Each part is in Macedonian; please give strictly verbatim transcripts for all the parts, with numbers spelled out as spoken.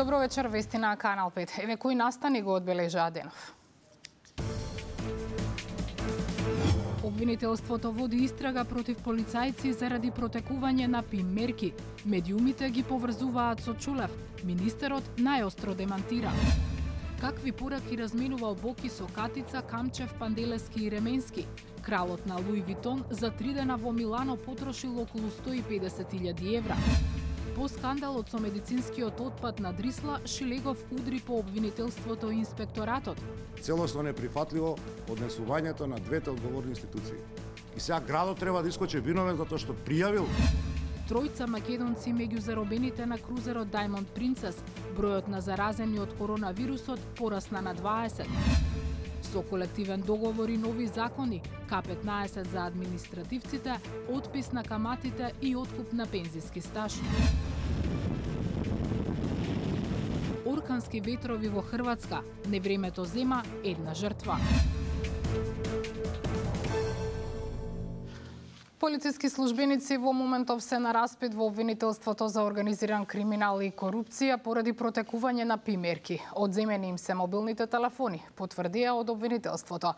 Добро вечер, вести на Канал пет. Еве кои настани го одбележаа денов. Обвинителството води истрага против полицајци заради протекување на ПИМ мерки. Медиумите ги поврзуваат со Чулев. Министерот најостро демантира. Какви пораки разменувал Боки со Катица, Камчев, Панделевски и Ременски? Кралот на Луи Витон за три дена во Милано потрошил околу сто и педесет илјади евра. По скандалот со медицинскиот отпад на Дрисла, Шилегов удри по обвинителството и инспекторатот. Целосно неприфатливо однесувањето на двете одговорни институции. И сега градот треба да искочи виновен затоа што пријавил. Тројца македонци меѓу заробените на крузерот Diamond Princess. Бројот на заразени од коронавирусот порасна на дваесет. Со колективен договор и нови закони, К петнаесет за административците, отпис на каматите и откуп на пензиски стаж. Оркански ветрови во Хрватска, невремето зема една жртва. Полициски службеници во моментов се на распит во обвинителството за организиран криминал и корупција поради протекување на ПИМ мерки. Одземени им се мобилните телефони, потврдија од обвинителството.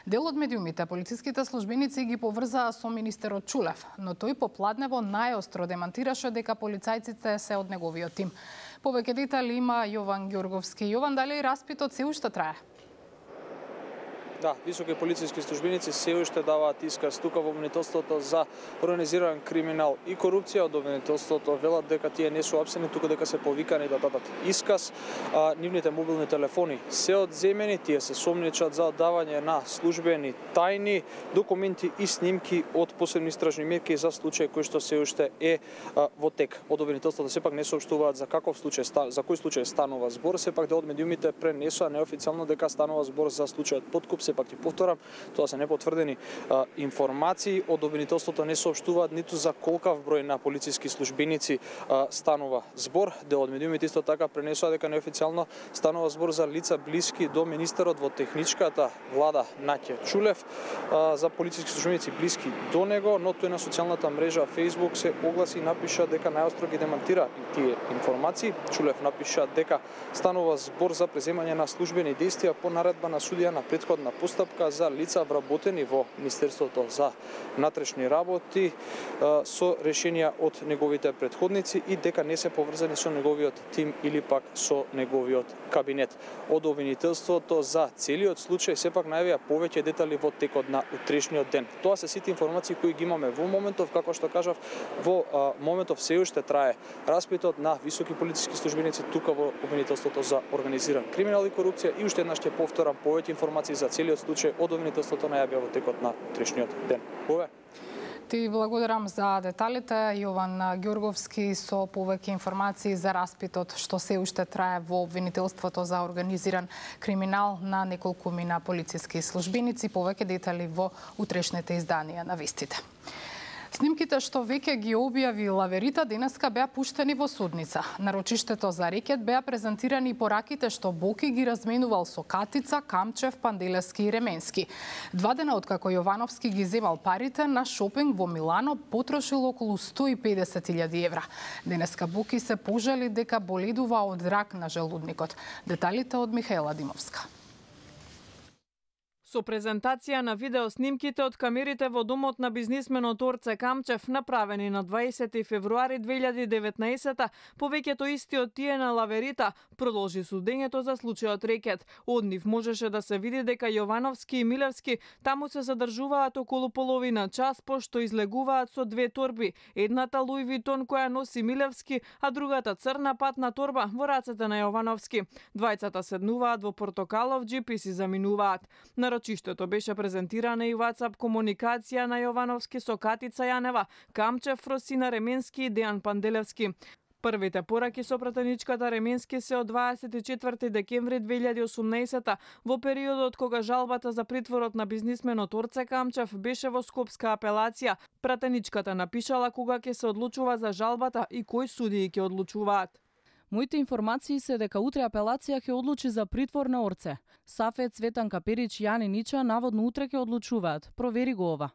Дел од медиумите полициските службеници ги поврзаа со министерот Чулев, но тој попладнево најостро демантираше дека полицајците се од неговиот тим. Повеќе детали има Јован Ѓорговски. Јован, дали распитот се уште трае? Да, високи полициски службеници се уште даваат исказ тука во обвинителството за организиран криминал и корупција. Од обвинителството велат дека тие не се апсени, туку дека се повикани да дадат исказ. А, нивните мобилни телефони се одземени, тие се сомничат за оддавање на службени тајни документи и снимки од посебни истражни мерки за случај кој што се уште е а, во тек. Од обвинителството сепак не соопштуваат за каков случај, за кој случај станува збор, сепак дел од медиумите пренесоа неофицијално дека станува збор за случајот подкуп. Пак ти повторам, тоа се непотврдени а, информации. Од обвинителството не соопштуваат ниту за колкав број на полициски службеници а, станува збор. Дел од медиумите исто така пренесоа дека неофицијално станува збор за лица блиски до министерот во техничката влада Наќе Чулев, а, за полициски службеници блиски до него, но тој на социјалната мрежа Facebook се огласи и напиша дека најостро ги демантира и тие информации. Чулев напиша дека станува збор за преземање на службени действија по наредба на судија на претходна постапка за лица вработени во Министерството за внатрешни работи со решенија од неговите претходници и дека не се поврзани со неговиот тим или пак со неговиот кабинет. Од обвинителството за целиот случај сепак најавија повеќе детали во текот на утрешниот ден. Тоа се сите информации кои ги имаме во моментов, како што кажав, во а, моментов се уште трае распитот на високи полициски службеници тука во обвинителството за организиран криминал и корупција и уште еднаш ќе повторам повеќе информации за целиот случај од обвинителството најавија во текот на утрешниот ден. Ове. Ти благодарам за деталите, Јован Ѓорговски, со повеќе информации за распитот што се уште трае во обвинителството за организиран криминал на неколкумина полициски службеници. Повеќе детали во утрешните изданија на вестите. Снимките што веќе ги објави Лаверита денеска беа пуштени во судница. На рочиштето за рекет беа презентирани и пораките што Боки ги разменувал со Катица, Камчев, Панделевски и Ременски. Два дена откако Јовановски ги земал парите на шопинг во Милано, потрошил околу сто и педесет илјади евра. Денеска Боки се пожали дека боледува од рак на желудникот. Деталите од Михаела Димовска. Со презентација на видеоснимките од камерите во домот на бизнисменот Орце Камчев, направени на дваесети февруари две илјади и деветнаесета, повеќето исти од тие на Лаверита, продолжи судењето за случајот рекет. Од нив можеше да се види дека Јовановски и Милевски таму се задржуваат околу половина час, пошто излегуваат со две торби. Едната Луи Витон која носи Милевски, а другата црна патна торба во рацете на Јовановски. Двајцата седнуваат во портокалов џип и си заминуваат. На рочиштето беше презентирана и WhatsApp комуникација на Јовановски со Катица Јанева, Камчев, Росина Ременски и Дејан Панделевски. Првите пораки со пратеничката Ременски се од дваесет и четврти декември две илјади и осумнаесета, во периодот кога жалбата за притворот на бизнисменот Орце Камчев беше во Скопска апелација. Пратеничката напишала кога ќе се одлучува за жалбата и кои судии ќе одлучуваат. Моите информации се дека утре апелација ќе одлучи за притвор на Орце. Сафет, Цветан Каперич, Јани Нича наводно утре ќе одлучуваат. Провери го ова.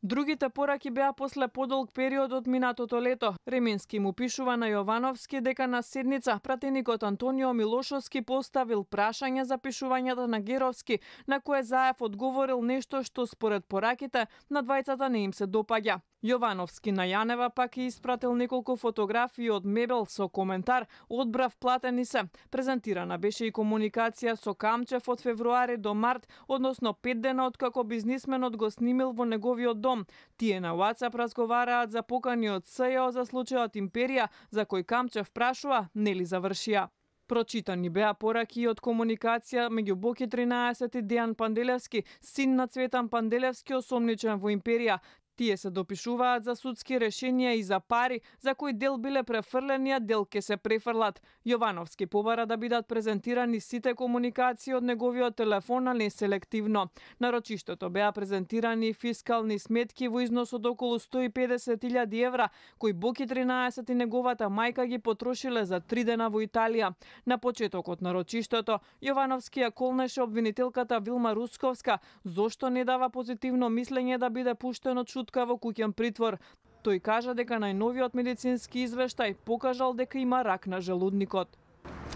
Другите пораки беа после подолг период од минатото лето. Ремински му пишува на Јовановски дека на седница пратеникот Антонио Милошовски поставил прашање за пишувањето на Геровски, на кое Заев одговорил нешто што според пораките на двајцата не им се допаѓа. Јовановски на Јанева пак е испратил неколку фотографии од мебел со коментар "Одбрав, платени се". Презентирана беше и комуникација со Камчев од февруари до март, односно пет дена откако бизнисменот го снимил во неговиот дом. Тие на WhatsApp разговараат за покани од С Ј О за случајот Империја, за кој Камчев прашува нели завршија. Прочитани беа пораки и од комуникација меѓу Боки тринаесет и Дејан Панделевски, син на Цветан Панделевски, осомничен во Империја. Тие се допишуваат за судски решенија и за пари, за кои дел биле префрлени, а дел ке се префрлат. Јовановски побара да бидат презентирани сите комуникации од неговиот телефон, а не селективно. На рочиштето беа презентирани фискални сметки во износ од околу сто и педесет илјади евра, кои Боки тринаесет и неговата мајка ги потрошиле за три дена во Италија. На почетокот на рочиштето, Јовановски ја колнеше обвинителката Вилма Русковска, зошто не дава позитивно мислење да биде пуштен од шутка во куќен притвор. Тој кажа дека најновиот медицински извештај покажал дека има рак на желудникот.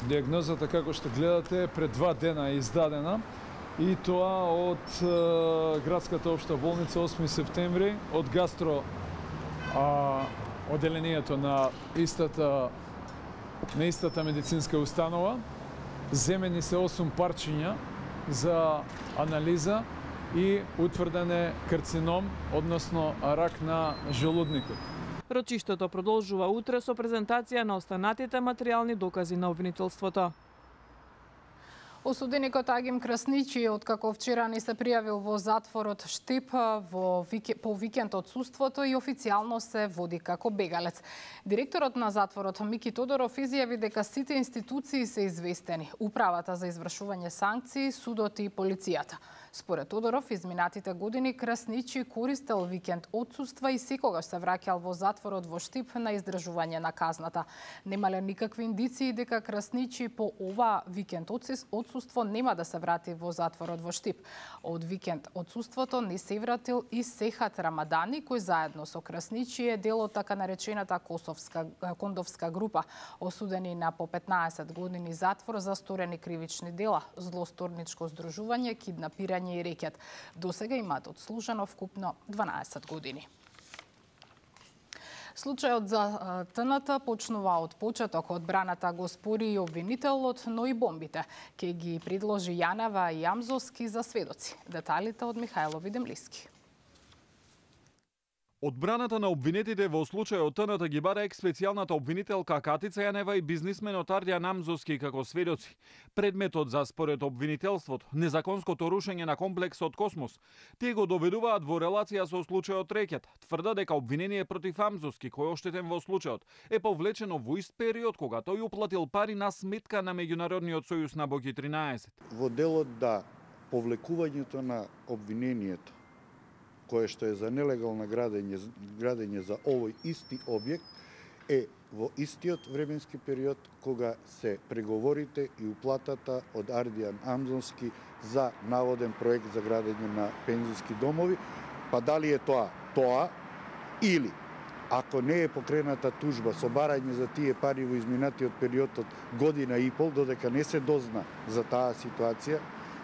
Диагнозата, како што гледате, пред два дена е издадена и тоа од е, градската општа болница осми септември, од гастро а, оделението на истата на истата медицинска установа. Земени се осум парчиња за анализа и утврден е карцином, односно рак на желудникот. Рочиштето продолжува утре со презентација на останатите материјални докази на обвинителството. Осуденикот Агим Красничи, откако вчера ни се пријавил во затворот Штип во вике, по викенд одсуството и официјално се води како бегалец. Директорот на затворот Мики Тодоров изјави дека сите институции се известени, управата за извршување санкции, судот и полицијата. Според Тодоров, изминатите години Красничи користел викенд одсуства и секогаш се враќал во затворот во Штип на издржување на казната. Немале никакви индиции дека Красничи по ова викенд одсуство нема да се врати во затворот во Штип. Од викенд одсуството не се вратил и Сехат Рамадани, кој заедно со Красничи е дел од така наречената Косовска кондовска група, осудени на по петнаесет години затвор за сторени кривични дела, злосторничко здружување, киднапирање и рекет. Досега имаат одслужено вкупно дванаесет години. Случајот за Т Н Т почнува од почеток. Одбраната го спори и обвинителот, но и бомбите. Ке ги предложи Јанева и Амзовски за сведоци. Деталите од Михајло Видемлиски. Одбраната на обвинетите во случајот Т Н Т ги бара екс-специјалната обвинителка Катица Јанева и бизнисменот Ардијан Амзовски како сведоци. Предметот за според обвинителството, незаконското рушење на комплексот Космос, тие го доведуваат во релација со случајот Рекет. Тврда дека обвинение против Амзовски, кој оштетен во случајот, е повлечено во ист период кога тој уплатил пари на сметка на Меѓународниот сојуз на Боки тринаесет. Во делот да повлекувањето на обвинението кое што е за нелегално градење, градење за овој исти објект, е во истиот временски период кога се преговорите и уплатата од Ардијан Амзовски за наводен проект за градење на пензиски домови, па дали е тоа тоа или ако не е покрената тужба со барање за тие пари во изминатиот период од година и пол, додека не се дозна за таа ситуација,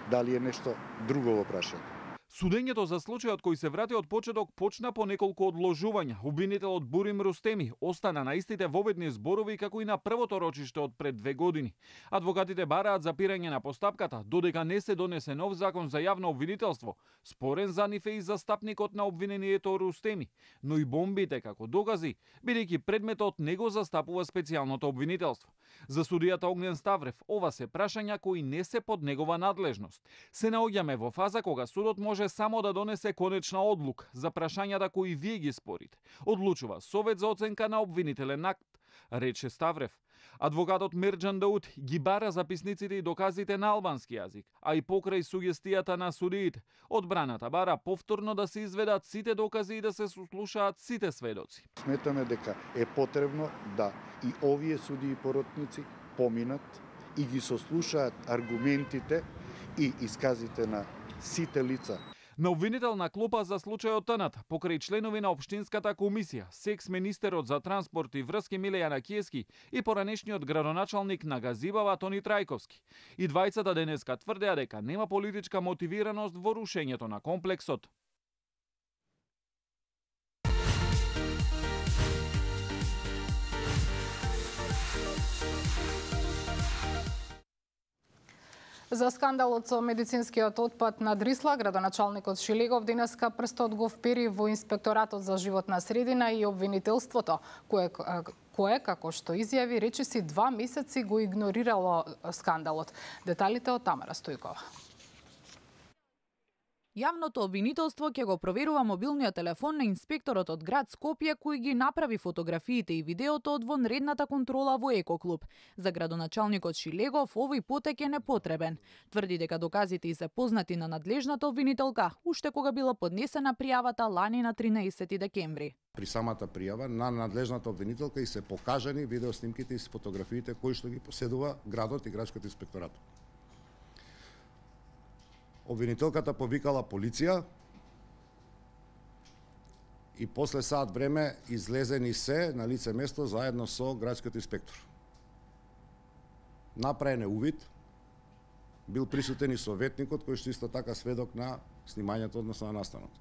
дали е нешто друго во прашање. Судењето за случајот кој се врати од почеток почна по неколку одложувања. Обвинителот Бурим Рустеми остана на истите воведни зборови како и на првото рочиште од пред две години. Адвокатите бараат запирање на постапката, додека не се донесе нов закон за јавно обвинителство. Спорен за нив е и застапникот на обвинението Рустеми, но и бомбите како докази, бидејќи предметот не го застапува специјалното обвинителство. За судијата Огнен Ставрев, ова се прашања кои не се под негова надлежност. Се наоѓаме во фаза кога судот може само да донесе конечна одлука за прашањата кои вие ги спорите. Одлучува Совет за оценка на обвинителен акт, рече Ставрев. Адвокатот Мерџан Даут ги бара записниците и доказите на албански јазик, а и покрај сугестијата на судиите. Одбраната бара повторно да се изведат сите докази и да се сослушаат сите сведоци. Сметаме дека е потребно да и овие судии и поротници поминат и ги сослушаат аргументите и исказите на сите лица. На обвинителна клопа за случајот Тнат, покрај членови на Општинската комисија, секс министерот за транспорт и врски Милејана Киески и поранешниот градоначалник на Газибава Тони Трајковски. И двајцата денеска тврдеа дека нема политичка мотивираност во рушењето на комплексот. За скандалот со медицинскиот отпад на Дрисла, градоначалникот Шилегов денеска прстот го впери во Инспекторатот за животна средина и обвинителството, кое, кое како што изјави, речиси два месеци го игнорирало скандалот. Деталите од Тамара Стојкова. Јавното обвинителство ќе го проверува мобилниот телефон на инспекторот од град Скопје кој ги направи фотографиите и видеото од вонредната контрола во Екоклуб. За градоначалникот Шилегов овој потек е непотребен. Тврди дека доказите и се познати на надлежната обвинителка уште кога била поднесена пријавата лани на тринаесети декември. При самата пријава на надлежната обвинителка и се покажани видеоснимките и фотографиите кои што ги поседува градот и градскиот инспекторат. Обвинителката повикала полиција и после саат време излезени се на лице место заедно со градскиот инспектор. Направен е увид, бил присутен и советникот кој што исто така сведок на снимањето, односно на настанот.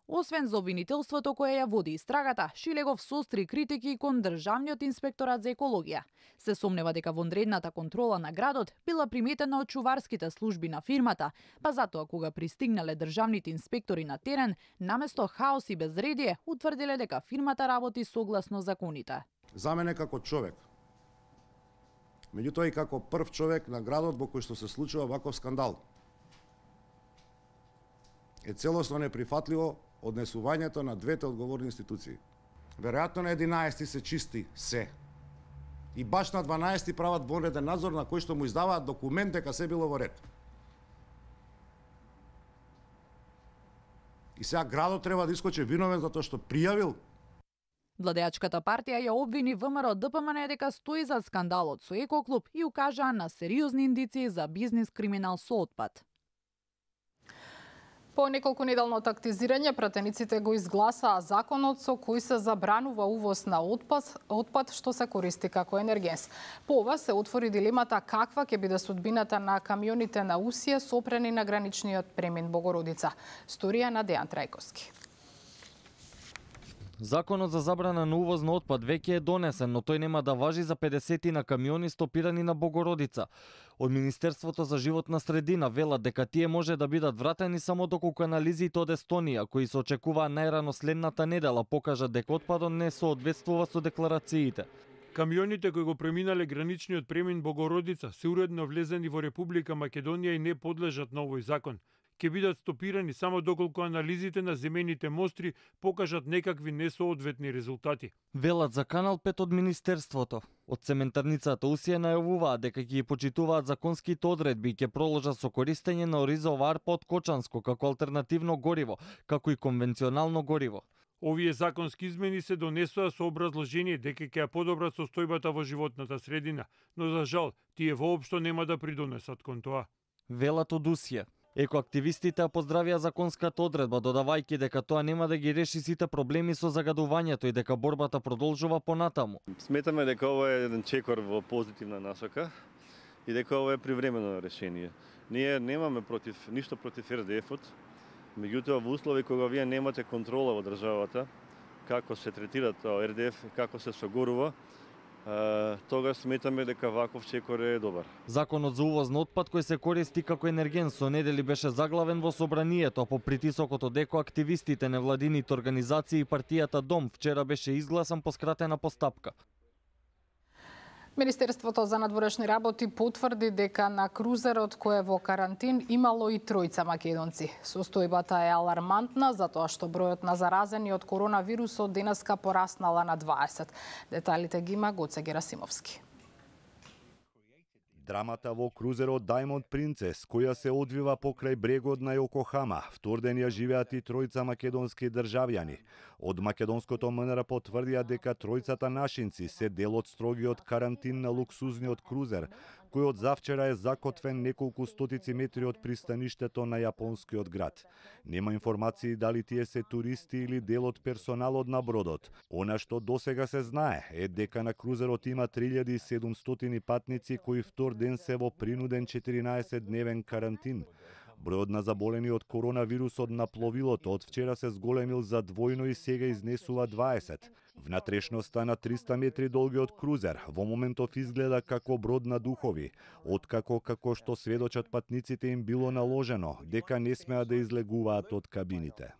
Освен за обвинителството кое ја води истрагата, Шилегов состри критики кон Државниот инспекторат за екологија. Се сомнева дека вонредната контрола на градот била приметена од чуварските служби на фирмата, па затоа кога пристигнале државните инспектори на терен, наместо хаос и безредие, утврдиле дека фирмата работи согласно законите. За мене како човек, меѓутоа и како прв човек на градот во кој што се случува ваков скандал, е целосно неприфатливо однесувањето на двете одговорни институции. Веројатно на единаесети се чисти се. И баш на дванаесети прават вонреден надзор на кој што му издаваат документ дека се било во ред. И сега градот треба да искочи виновен затоа што пријавил. Владеачката партија ја обвини ВМРО Д П М Н дека стои за скандалот со Екоклуб и укажаа на сериозни индиции за бизнис криминал со отпад. По неколку неделно тактизирање, пратениците го изгласаа законот со кој се забранува увоз на отпад, отпад што се користи како енергенс. По ова се отвори дилемата каква ќе биде судбината на камионите на Усија сопрени на граничниот премин Богородица. Сторија на Дејан Трајковски. Законот за забрана на увоз на отпад веќе е донесен, но тој нема да важи за педесетина камиони стопирани на Богородица. Од Министерството за животна средина велат дека тие може да бидат вратени само доколку анализите од Естонија, кои се очекуваа најрано следната недела, покажат дека отпадот не соодветствува со декларациите. Камионите кои го преминале граничниот премин Богородица се уредно влезени во Република Македонија и не подлежат на овој закон. Ке бидат стопирани само доколку анализите на земените мостри покажат некакви несоодветни резултати. Велат за Канал пет од Министерството. Од цементарницата Усија најавуваат дека ќе ги почитуваат законските одредби и ќе продолжат со користење на оризов арпа од Кочанско како алтернативно гориво, како и конвенционално гориво. Овие законски измени се донесоа со образложение дека ќе ја подобрат состојбата во животната средина, но за жал тие воопшто нема да придонесат кон тоа. Велат од Усија. Екоактивистите ја поздравија законската одредба, додавајќи дека тоа нема да ги реши сите проблеми со загадувањето и дека борбата продолжува понатаму. Сметаме дека ова е еден чекор во позитивна насока и дека ова е привремено решение. Ние немаме против ништо против Р Д Ф-от, меѓутоа во услови кога вие немате контрола во државата, како се третира тоа Р Д Ф, како се согорува, тогаш сметаме дека ваков чекор е добар. Законот за увоз на отпад кој се користи како енерген со недели беше заглавен во собранието, а по притисокот од екоактивистите, невладините организации и партијата Дом вчера беше изгласан по скратена постапка. Министерството за надворешни работи потврди дека на крузерот кој е во карантин имало и тројца македонци. Состојбата е алармантна затоа што бројот на заразени од коронавирусот денеска пораснала на дваесет. Деталите ги има Гоце Герасимовски. Драмата во крузерот Diamond Princess, која се одвива покрај брегот на Јокохама, вторден ја живеат и тројца македонски државјани. Од македонското М Н Р потврдија дека тројцата нашинци се дел од строгиот карантин на луксузниот крузер, кој од завчера е закотвен неколку стотици метри од пристаништето на јапонскиот град. Нема информации дали тие се туристи или дел од персоналот на бродот. Она што досега се знае е дека на крузерот има три илјади и седумстотини патници кои втор ден се во принуден четиринаесетдневен карантин. Бројот на заболени од коронавирусот на пловилото од вчера се зголемил за двојно и сега изнесува дваесет. Внатрешноста на триста метри долгиот крузер во моментов изгледа како брод на духови, откако како што сведочат патниците им било наложено дека не смеа да излегуваат од кабините.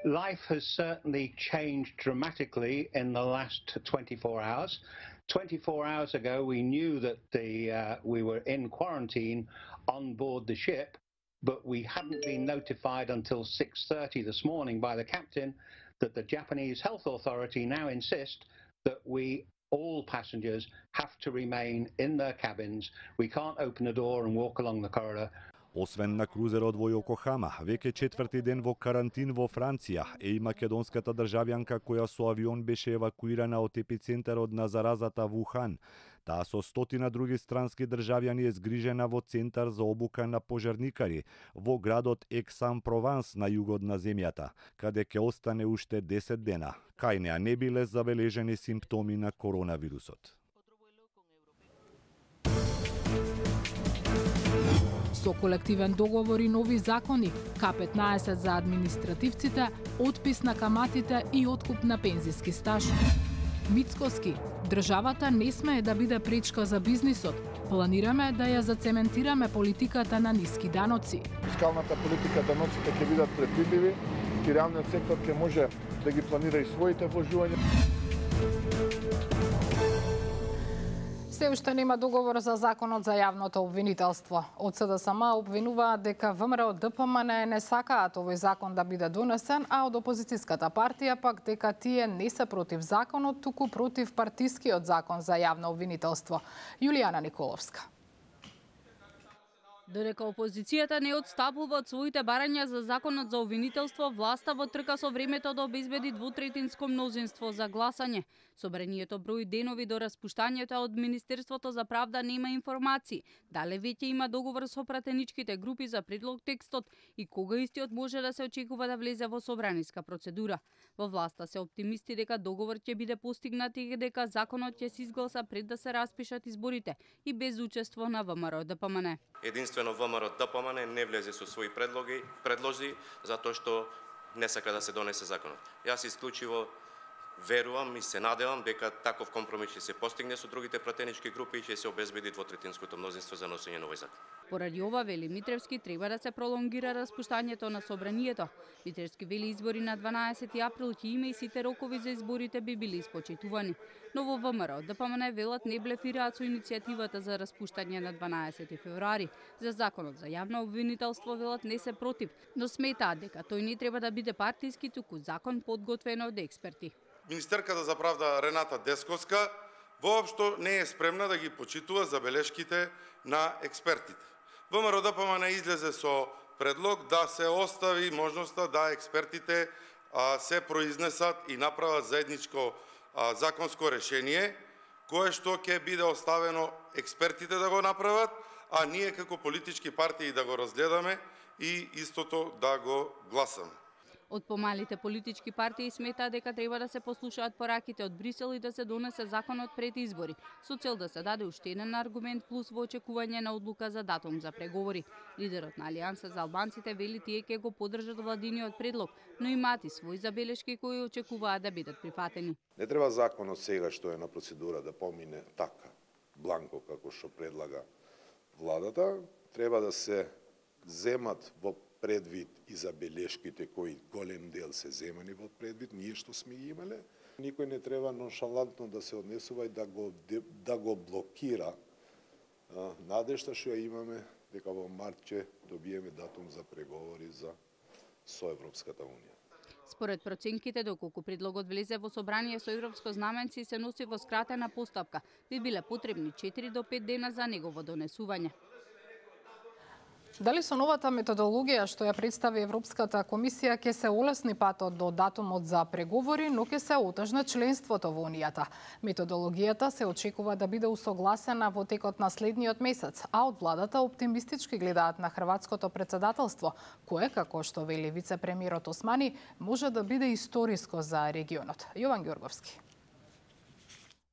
Life has certainly changed dramatically in the last twenty-four hours. twenty-four hours ago we knew that the uh, we were in quarantine on board the ship, but we hadn't been notified until six thirty this morning by the captain that the Japanese health authority now insist that we all passengers have to remain in their cabins. We can't open the door and walk along the corridor. Освен на крузерот во Јокохама, веќе четврти ден во карантин во Франција е и македонската државјанка која со авион беше евакуирана од епицентарот на заразата Вухан. Таа со стотина други странски државјани е згрижена во центар за обука на пожарникари во градот Ексан-Прованс на југот на земјата, каде ќе остане уште десет дена. Кај неа не биле забележени симптоми на коронавирусот. Со колективен договор и нови закони, К петнаесет за административците, отпис на каматите и откуп на пензиски стаж. Мицкоски, државата не смее да биде пречка за бизнисот. Планираме да ја зацементираме политиката на ниски даноци. Фискалната политика, даноците ќе бидат предвидливи и реалниот сектор ќе може да ги планира и своите вложувања. Се уште нема договор за законот за јавното обвинителство. Од СДСМ обвинуваат дека ВМРО ДПМН не сакаат овој закон да биде донесен, а од опозицијската партија пак дека тие не се против законот, туку против партискиот закон за јавно обвинителство. Јулијана Николовска. Додека опозицијата не отстапува од своите барања за законот за обвинителство, власта во трка со времето да обезбеди двутретинско мнозинство за гласање. Собранието брои денови до распуштањето, од Министерството за правда нема информации. Дале веќе има договор со пратеничките групи за предлог текстот и кога истиот може да се очекува да влезе во собраниска процедура. Во власта се оптимисти дека договор ќе биде постигнат и дека законот ќе се изгласа пред да се распишат изборите и без учество на ВМРО ДПМН. Единствено ВМРО ДПМН не влезе со своји предлоги, предлози затоа што не сака да се донесе законот. Јас исклучиво верувам и се надевам дека таков компромис ќе се постигне со другите пратенички групи и ќе се обезбеди двотретинското мнозинство за носење на овој закон. Поради ова, вели Митревски, треба да се пролонгира распуштањето на собранието. Митревски вели избори на дванаесети април ќе има и сите рокови за изборите би били испочитувани. Но во ВМРО ДПМН велат не блефираат со иницијативата за распуштање на дванаесети февруари. За законот за јавно обвинителство велат не се против, но сметаат дека тој не треба да биде партиски, туку закон подготвен од експерти. Министерката за правда Рената Десковска воопшто не е спремна да ги почитува забелешките на експертите. ВМРО ДПМН излезе со предлог да се остави можноста да експертите а, се произнесат и направат заедничко а, законско решение, кое што ќе биде оставено експертите да го направат, а ние како политички партии да го разгледаме и истото да го гласаме. Од помалите политички партии сметаат дека треба да се послушаат пораките од Брисел и да се донесе законот пред избори, со цел да се даде уште еден аргумент плюс во очекување на одлука за датум за преговори. Лидерот на Алијанса за албанците вели тие ќе го поддржат владиниот предлог, но имаат и своји забелешки кои очекуваат да бидат прифатени. Не треба законот сега што е на процедура да помине така, бланко како што предлага владата, треба да се земат во предвид и забелешките кои голем дел се земани во предвид, ние што сме ги имале. Никој не треба ноншалантно да се однесува и да го, да го блокира а, надежта што ја имаме дека во март ќе добиеме датум за преговори за со Европската унија. Според проценките, доколку предлогот влезе во собрание со европско знаменци и се носи во скратена постапка, би биле потребни четири до пет дена за негово донесување. Дали со новата методологија што ја представи Европската комисија ќе се олесни патот до датумот за преговори, но ќе се отежне членството во Унијата? Методологијата се очекува да биде усогласена во текот на следниот месец, а од владата оптимистички гледаат на хрватското председателство, кое, како што вели вице-премиерот Османи, може да биде историско за регионот. Јован Ѓорговски.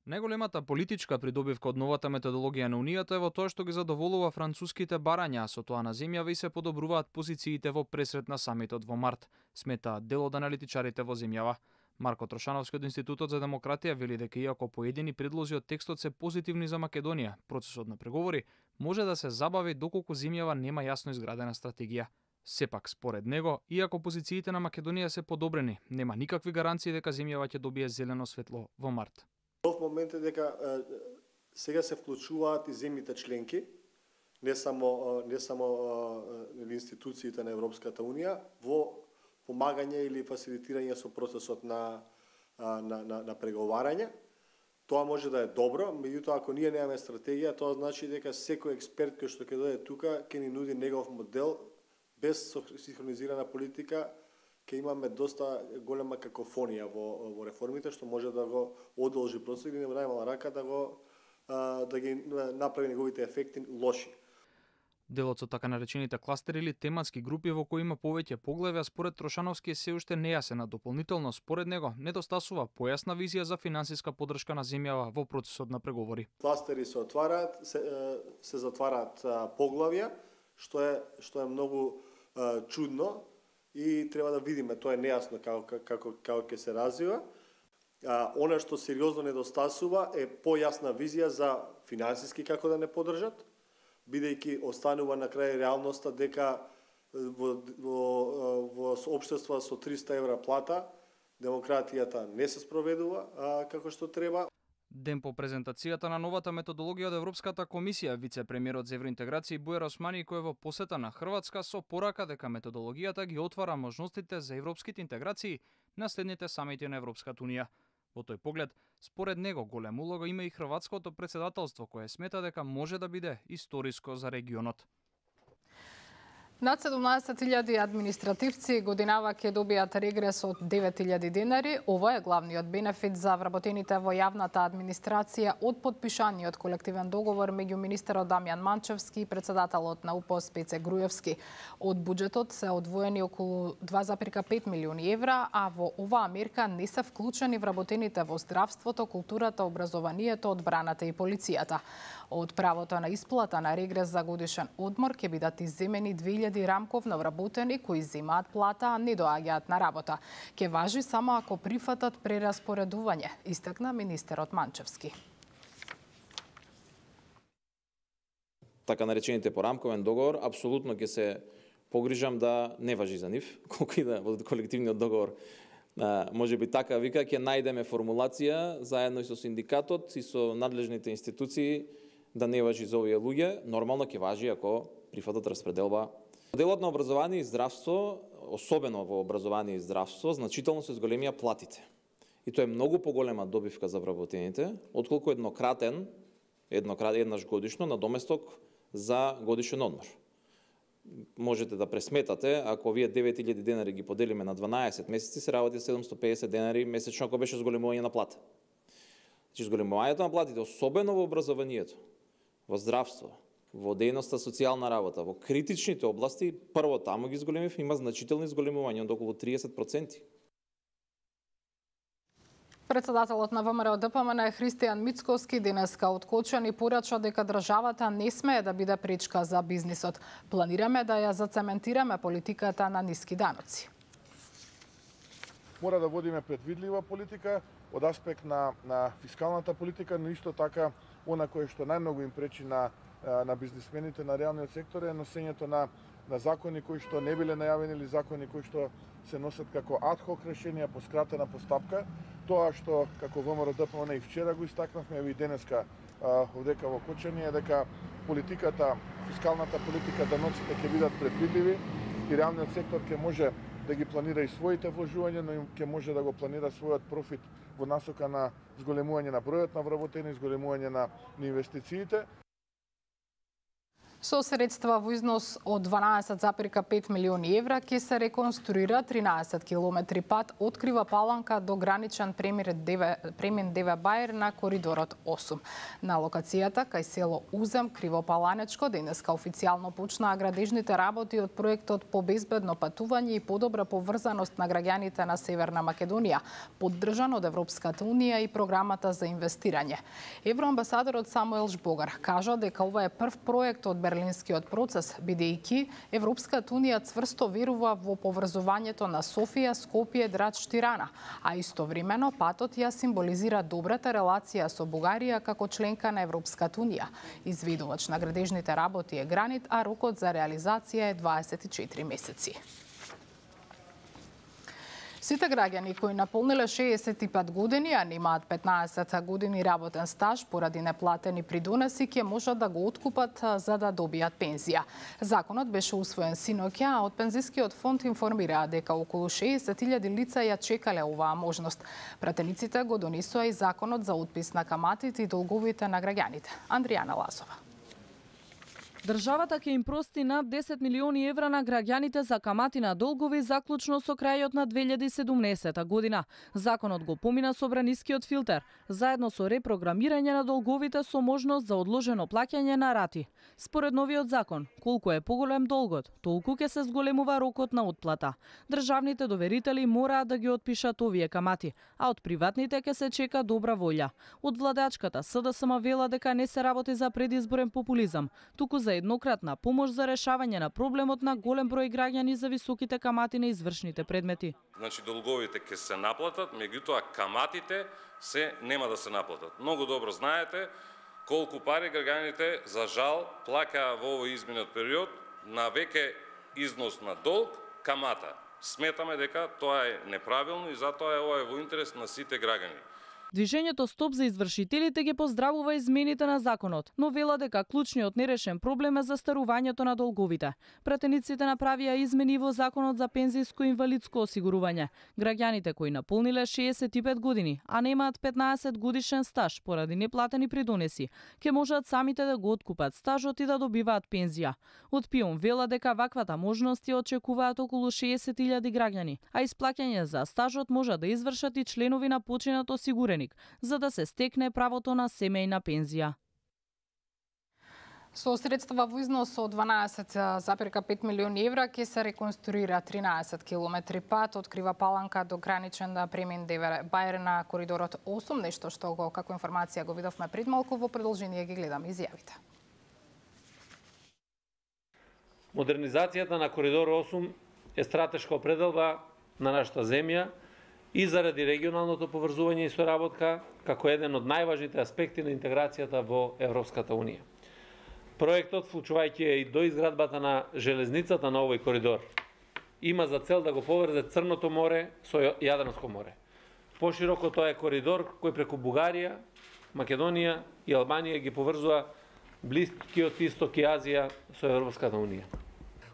Најголемата политичка придобивка од новата методологија на Унијата е во тоа што ги задоволува француските барања, а со тоа на земјава и се подобруваат позициите во пресрет на самитот во март, сметаат дел од аналитичарите во земјава. Марко Трошановски од Институтот за демократија вели дека иако поедини предлози од текстот се позитивни за Македонија, процесот на преговори може да се забави доколку земјава нема јасно изградена стратегија. Сепак, според него, иако позициите на Македонија се подобрени, нема никакви гаранции дека земјава ќе добие зелено светло во март. Нов момент е дека е, сега се вклучуваат и земјите членки, не само не само е, институциите на Европската унија во помагање или фасилитирање со процесот на на на, на преговарање. Тоа може да е добро, меѓутоа ако ние немаме стратегија, тоа значи дека секој експерт кој што ќе дојде тука ќе ни нуди негов модел без синхронизирана политика. Ке имаме доста голема какофонија во, во реформите, што може да го одолжи процесот или во најмала рака да го а, да ги направи неговите ефекти лоши. Делот со така наречените кластери или тематски групи во кои има повеќе поглави, а според Трошановски е се уште нејасен, а дополнително според него недостасува појасна визија за финансиска поддршка на земјава во процесот на преговори. Кластери се отвараат, се, се затвараат поглавја, што е што е многу а, чудно. И треба да видиме, тоа е нејасно како како како ќе се развива. А, она што сериозно недостасува е појасна визија за финансиски како да не поддржат, бидејќи останува на крај реалноста дека во во во општества со триста евра плата демократијата не се спроведува а, како што треба. Ден по презентацијата на новата методологија од Европската комисија, вице-премиерот за евроинтеграција Бујар Османи, кој е во посета на Хрватска со порака дека методологијата ги отвара можностите за европските интеграции на следните самити на Европската унија. Во тој поглед, според него, голема улога има и хрватското председателство, кое смета дека може да биде историско за регионот. Над седумнаесет илјади административци годинава ќе добијат регрес од девет илјади денари. Ова е главниот бенефит за вработените во јавната администрација од подпишаниот колективен договор меѓу министерот Дамјан Манчевски и председателот на УПОС Пеце Груевски. Од буџетот се одвоени околу два запирка пет милиони евра, а во оваа мерка не се вклучени вработените во здравството, културата, образованието, одбраната и полицијата. Од правото на исплата на регрес за годишен одмор ќе бидат изземени две илјади рамковно вработени кои земаат плата, а не доаѓаат на работа. Ќе важи само ако прифатат прераспоредување, истакна министерот Манчевски. Така наречените по рамковен договор, апсолутно ќе се погрижам да не важи за нив, колку и да во колективниот договор може би така вика, ќе најдеме формулација заедно и со синдикатот и со надлежните институции да не важи за овие луѓе, нормално ќе важи ако прифатат распределба. Делот на образование и здравство, особено во образование и здравство, значително се зголемија платите. И тоа е многу поголема добивка за вработените, отколку еднократен, еднократ, еднаш годишно, надоместок за годишен одмор. Можете да пресметате, ако вие девет илјади денари ги поделиме на дванаесет месеци, се работи седумстотини и педесет денари месечно, ако беше зголемување на плата. Значи, зголемувањето на платите, особено во образованието, во здравство, во дејноста социјална работа, во критичните области, прво таму ги зголемив, има значителни зголемувања од околу триесет проценти. Председателот на ВМРО Д П М Н Христијан Мицковски денеска откочен и порача дека државата не смее да биде пречка за бизнисот. Планираме да ја зацементираме политиката на ниски даноци. Мора да водиме предвидлива политика од аспект на, на фискалната политика, но исто така она кое што најмногу им пречи на, на бизнисмените на реалниот сектор е носењето на, на закони кои што не биле најавени или закони кои што се носат како адхок решенија по скратена постапка. Тоа што како ВМРО Д П М Н и вчера го истакнавме и денеска овдека во Кочани е дека политиката, фискалната политика, даноците ќе бидат предвидливи и реалниот сектор ќе може да ги планира и своите вложувања, но и ќе може да го планира својот профит во насока на зголемување на бројот на вработени, зголемување на инвестициите. Со средства во износ од дванаесет запирка пет милиони евра ќе се реконструира тринаесет километри пат од Крива Паланка до граничен премин Деве Бајер на коридорот осум. На локацијата кај село Узем, Кривопаланечко, денеска официјално почнаа градежните работи од проектот по безбедно патување и подобра поврзаност на граѓаните на Северна Македонија, поддржан од Европската унија и програмата за инвестирање. Евроамбасадорот Самуел Жбогар кажа дека ова е прв проект од Берлинскиот процес, бидејќи Европската унија цврсто верува во поврзувањето на Софија, Скопје, Драч, Тирана, а истовремено патот ја символизира добрата релација со Бугарија како членка на Европската унија. Изведувач на градежните работи е Гранит, а рокот за реализација е дваесет и четири месеци. Сите граѓани кои наполниле шеесет и пет години, а немаат петнаесет години работен стаж поради неплатени придонеси, ќе можат да го откупат за да добијат пензија. Законот беше усвоен синоќа, а од Пензискиот фонд информираа дека околу шеесет илјади лица ја чекале оваа можност. Пратениците го донесоа и законот за отпис на каматите и долговите на граѓаните. Андријана Лазова. Државата ќе им прости над десет милиони евра на граѓаните за камати на долгови заклучно со крајот на две илјади и седумнаесета година. Законот го помина собранискиот филтер, заедно со репрограмирање на долговите со можност за одложено плаќање на рати. Според новиот закон, колку е поголем долгот, толку ќе се зголемува рокот на отплата. Државните доверители мораат да ги отпишат овие камати, а од приватните ќе се чека добра волја. Од владачката СДСМ вела дека не се работи за предизборен популизам, туку за еднократна помош за решавање на проблемот на голем број граѓани за високите камати на извршните предмети. Значи долговите ќе се наплатат, меѓутоа каматите се нема да се наплатат. Многу добро знаете колку пари граѓаните за жал плаќаа во овој изминат период на веќе износ на долг камата. Сметаме дека тоа е неправилно и затоа е ова е во интерес на сите граѓани. Движењето Стоп за извршителите ги поздравува измените на законот, но вела дека клучниот нерешен проблем е застарувањето на долговите. Пратениците направија измени во законот за пензијско и инвалидско осигурување. Граѓаните кои наполниле шеесет и пет години, а немаат петнаесет годишен стаж поради неплатени придонеси, ќе можат самите да го откупат стажот и да добиваат пензија. Од ПИОМ вела дека ваквата можност ја очекуваат околу шеесет илјади граѓани, а исплаќање за стажот можат да извршат и членови на починат осигуреник, за да се стекне правото на семејна пензија. Со средства во износ од дванаесет запирка пет милиони евра ќе се реконструира тринаесет километри пат од Крива Паланка до граничен премин Деве Бајер на коридорот осум, нешто што го како информација го видовме пред малку, во продолжение ги гледаме изјавите. Модернизацијата на коридор осум е стратешка определба на нашата земја и заради регионалното поврзување и соработка како еден од најважните аспекти на интеграцијата во Европската унија. Проектот, вклучувајќи и до изградбата на железницата на овој коридор, има за цел да го поврзе Црното море со Јадранско море. Пошироко тоа е коридор кој преку Бугарија, Македонија и Албанија ги поврзува Блискиот Исток и Азија со Европската унија.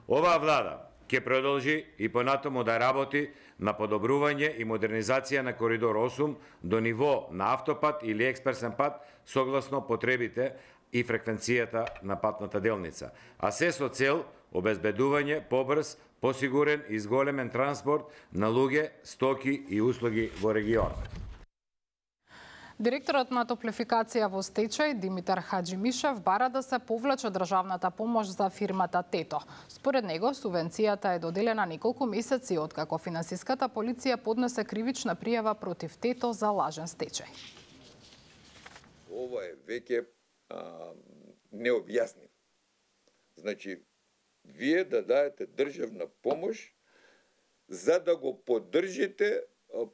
Оваа влада ќе продолжи и понатаму да работи на подобрување и модернизација на коридор осум до ниво на автопат или експресен пат согласно потребите и фреквенцијата на патната делница, а се со цел обезбедување побрз, посигурен и зголемен транспорт на луѓе, стоки и услуги во регионот. Директорот на топлификација во стечај Димитар Хаџимишев бара да се повлече државната помош за фирмата Тето. Според него, субвенцијата е доделена неколку месеци откако финансиската полиција поднесе кривична пријава против Тето за лажен стечај. Ова е веќе необјаснив. Значи, вие да даете државна помош за да го поддржите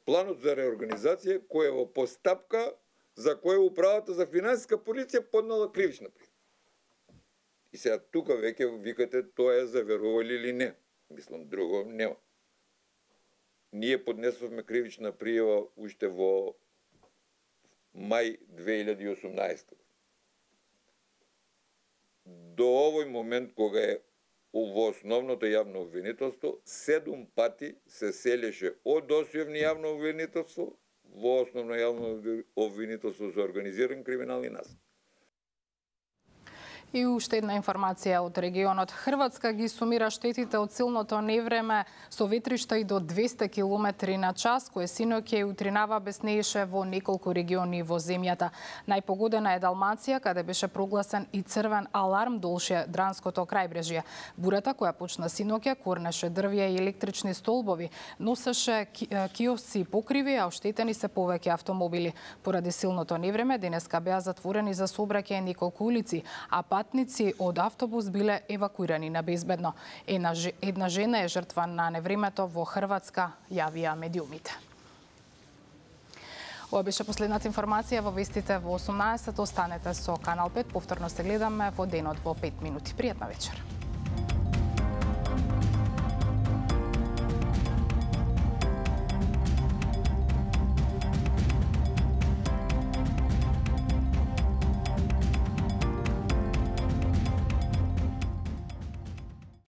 планот за реорганизација кој е во постапка за која управата за финансиска полиција поднала кривична пријава. И сега тука веќе викате тоа е заверували или не. Мислам, друго нема. Ние поднесовме кривична пријава уште во мај две илјади и осумнаесета. До овој момент кога е во основното јавно обвинителство, седум пати се селеше од осјовни јавно обвинителство во основно јавно обвинителство за организиран криминал и насилие. И уште една информација од регионот. Хрватска ги сумира штетите од силното невреме со ветришта и до двесте километри на час, кое синоќа и утринава беснееше во неколку региони во земјата. Најпогодена е Далмација, каде беше прогласен и црвен аларм долж Дранското крајбрежје. Бурата, која почна синоќа, корнеше дрвја и електрични столбови, носеше киосци и покриви, а оштетени се повеќе автомобили. Поради силното невреме, денеска беа затворени за сообраќај неколку улици, а патници од автобус биле евакуирани на безбедно. Една, една жена е жртва на невремето во Хрватска, јавија медиумите. Ова беше последната информација во вестите во осумнаесет. Останете со Канал пет. Повторно се гледаме во денот во пет минути. Пријатна вечер.